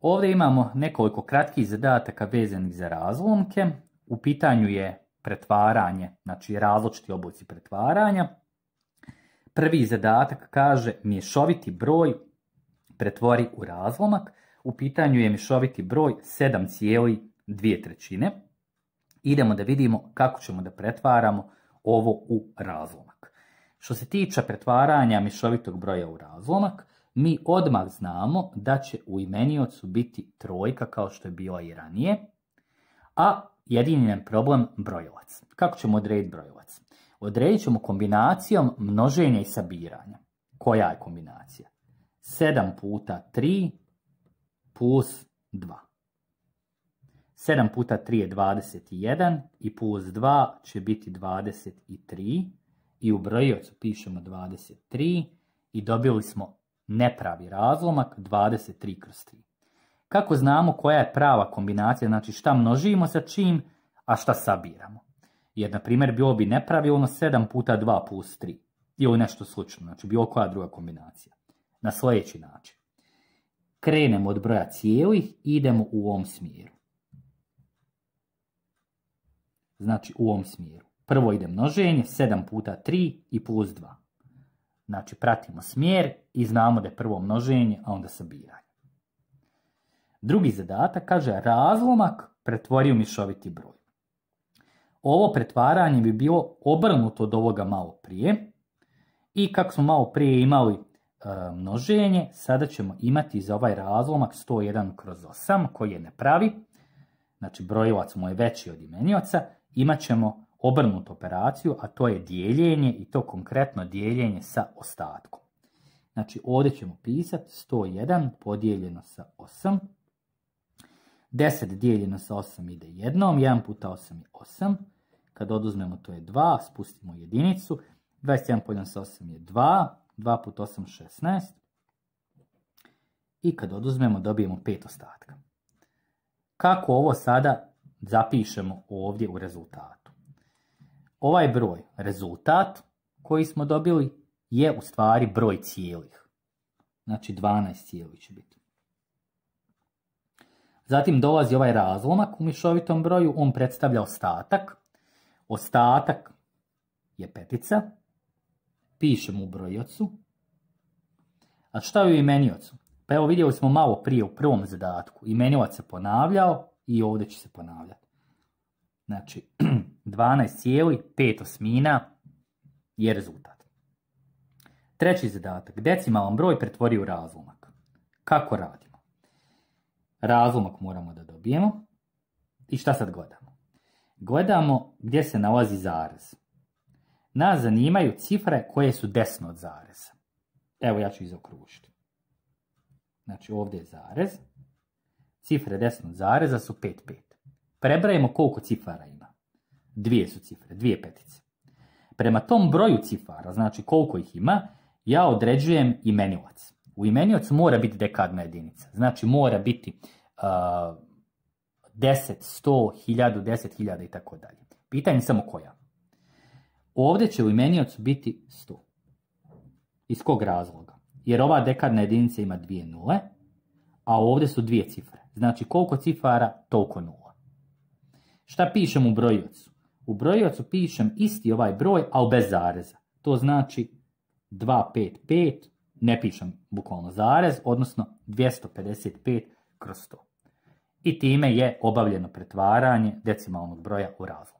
Ovdje imamo nekoliko kratkih zadataka vezanih za razlomke. U pitanju je pretvaranje, znači različiti oblici pretvaranja. Prvi zadatak kaže mješoviti broj pretvori u razlomak. U pitanju je mješoviti broj 7,2. Idemo da vidimo kako ćemo da pretvaramo ovo u razlomak. Što se tiče pretvaranja mješovitog broja u razlomak, mi odmah znamo da će u imeniocu biti trojka kao što je bila i ranije, a jedini je problem brojilac. Kako ćemo odrediti brojilac? Odredit ćemo kombinacijom množenja i sabiranja. Koja je kombinacija? 7 puta 3 plus 2. 7 puta 3 je 21 i plus 2 će biti 23 i u brojiocu pišemo 23 i dobili smo nepravi razlomak 23 kroz 3. Kako znamo koja je prava kombinacija, znači šta množimo sa čim, a šta sabiramo? Jer, na primjer, bilo bi nepravilno 7 puta 2 plus 3 ili nešto slično, znači bilo koja druga kombinacija. Na sljedeći način. Krenemo od broja cijelih i idemo u ovom smjeru. Znači u ovom smjeru. Prvo ide množenje, 7 puta 3 i plus 2. Znači pratimo smjer i znamo da je prvo množenje, a onda sabiranje. Drugi zadatak kaže razlomak pretvori u mješoviti broj. Ovo pretvaranje bi bilo obrnuto od ovoga malo prije. I kako smo malo prije imali množenje, sada ćemo imati za ovaj razlomak 101 kroz 8 koji je nepravi. Znači brojilac mu je veći od imenioca. Imat ćemo obrnutu operaciju, a to je dijeljenje i to konkretno dijeljenje sa ostatkom. Znači ovdje ćemo pisati 101 podijeljeno sa 8. 10 dijeljeno sa 8 ide jednom, 1 puta 8 je 8. Kad oduzmemo to je 2, spustimo jedinicu. 21 podijeljeno sa 8 je 2, 2 puta 8 16. I kad oduzmemo dobijemo 5 ostatka. Kako ovo sada zapišemo ovdje u rezultatu? Ovaj broj, rezultat koji smo dobili, je u stvari broj cijelih. Znači 12 cijelih će biti. Zatim dolazi ovaj razlomak u mješovitom broju, on predstavlja ostatak. Ostatak je petica. Pišemo u brojiocu. A šta je u imeniocu? Pa evo vidjeli smo malo prije u prvom zadatku. Imeniovac se ponavljao i ovdje će se ponavljati. Znači 12,5 je rezultat. Treći zadatak. Decimalan broj pretvori u razlomak. Kako radimo? Razlomak moramo da dobijemo. I šta sad gledamo? Gledamo gdje se nalazi zarez. Nas zanimaju cifre koje su desno od zareza. Evo ja ću izokružiti. Znači ovdje je zarez. Cifre desno od zareza su 5, 5. Prebrajemo koliko cifara ima. Dvije su cifre, dvije petice. Prema tom broju cifara, znači koliko ih ima, ja određujem imenilac. U imeniocu mora biti dekadna jedinica. Znači mora biti 10, 100, 1000, 10.000 i tako dalje. Pitanje je samo koja. Ovdje će u imeniocu biti 100. Iz kog razloga? Jer ova dekadna jedinica ima 2 nule, a ovdje su 2 cifre. Znači koliko cifara, toliko nula. Šta pišem u brojiocu? U brojiocu pišem isti ovaj broj, ali bez zareza. To znači 255, ne pišem bukvalno zarez, odnosno 255 kroz 100. I time je obavljeno pretvaranje decimalnog broja u razlom.